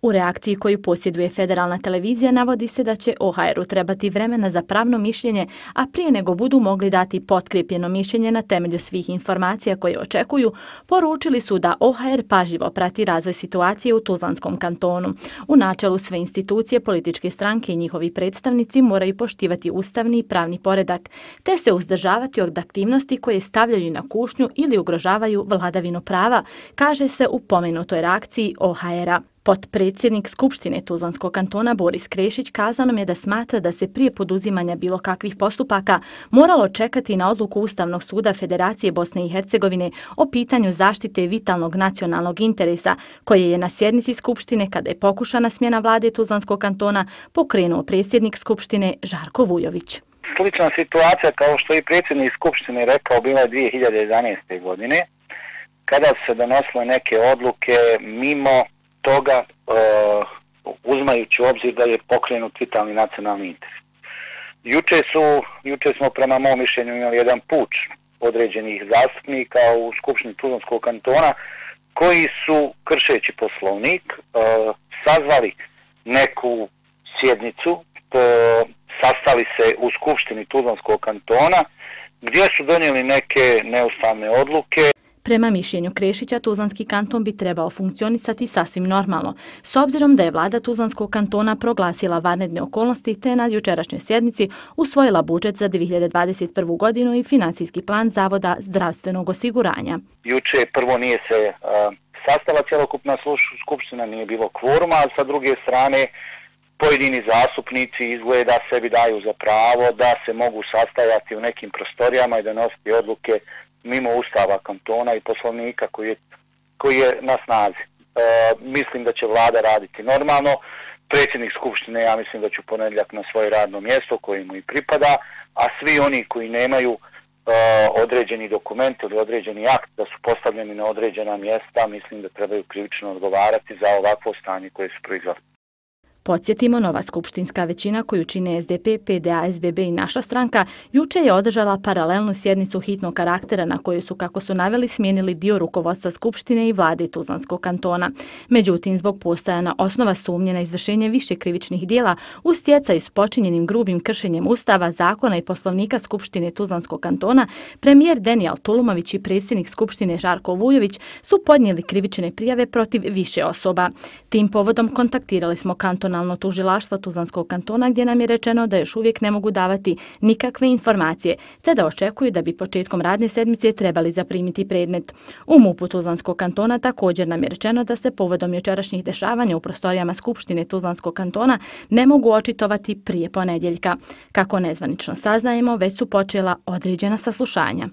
U reakciji koju posjeduje federalna televizija navodi se da će OHR-u trebati vremena za pravno mišljenje, a prije nego budu mogli dati potkrepljeno mišljenje na temelju svih informacija koje očekuju, poručili su da OHR pažljivo prati razvoj situacije u Tuzlanskom kantonu. U načelu sve institucije, političke stranke i njihovi predstavnici moraju poštivati ustavni i pravni poredak, te se uzdržavati od aktivnosti koje stavljaju na kušnju ili ugrožavaju vladavinu prava, kaže se u pomenutoj reakciji OHR-a. Potpredsjednik Skupštine Tuzlanskog kantona Boris Krešić kazao nam je da smatra da se prije poduzimanja bilo kakvih postupaka moralo čekati na odluku Ustavnog suda Federacije Bosne i Hercegovine o pitanju zaštite vitalnog nacionalnog interesa, koje je na sjednici Skupštine, kada je pokušana smjena vlade Tuzlanskog kantona, pokrenuo predsjednik Skupštine Žarko Vujović. Slična situacija, kao što je predsjednik Skupštine rekao, bila je 2011. godine, kada se donosile neke odluke mimo toga, uzimajući u obzir da je pokrenut vitalni nacionalni interes. Juče smo prema mom mišljenju imali jedan puč određenih zastupnika u Skupštini Tuzlanskog kantona koji su, kršeći Poslovnik, sazvali neku sjednicu, sastali se u Skupštini Tuzlanskog kantona gdje su donijeli neke neustavne odluke. Prema mišljenju Krešića, Tuzlanski kanton bi trebao funkcionisati sasvim normalno, s obzirom da je vlada Tuzlanskog kantona proglasila vanredne okolnosti te na jučerašnjoj sjednici usvojila budžet za 2021. godinu i financijski plan Zavoda zdravstvenog osiguranja. Juče prvo nije se sastala cjelokupna skupština, nije bilo kvoruma, a sa druge strane pojedini zastupnici izgleda sebi daju za pravo da se mogu sastajati u nekim prostorijama i donositi odluke mimo Ustava kantona i Poslovnika koji je na snazi. Mislim da će vlada raditi normalno. Predsjednik Skupštine, ja mislim da će u ponedjeljak na svoje radno mjesto koje mu i pripada, a svi oni koji nemaju određeni dokument ili određeni akt da su postavljeni na određena mjesta, mislim da trebaju krivično odgovarati za ovakvo stanje koje su proizveli. Podsjetimo, nova skupštinska većina koju čine SDP, PDA, SBB i naša stranka juče je održala paralelnu sjednicu hitnog karaktera na kojoj su, kako su naveli, smijenili dio rukovodstva Skupštine i vlade Tuzlanskog kantona. Međutim, zbog postojanja osnova sumnje na izvršenje više krivičnih dijela u stjecaju s počinjenim grubim kršenjem Ustava, zakona i Poslovnika Skupštine Tuzlanskog kantona, premijer Denijel Tulumović i predsjednik Skupštine Žarko Vujović su podnijeli krivične prijave protiv više osoba. Tim povodom kontaktirali smo kantonalno tužilaštvo Tuzlanskog kantona, gdje nam je rečeno da još uvijek ne mogu davati nikakve informacije, te da očekuju da bi početkom radne sedmice trebali zaprimiti predmet. U MUP-u Tuzlanskog kantona također nam je rečeno da se povodom jučerašnjih dešavanja u prostorijama Skupštine Tuzlanskog kantona ne mogu očitovati prije ponedjeljka. Kako nezvanično saznajemo, već su počela određena saslušanja.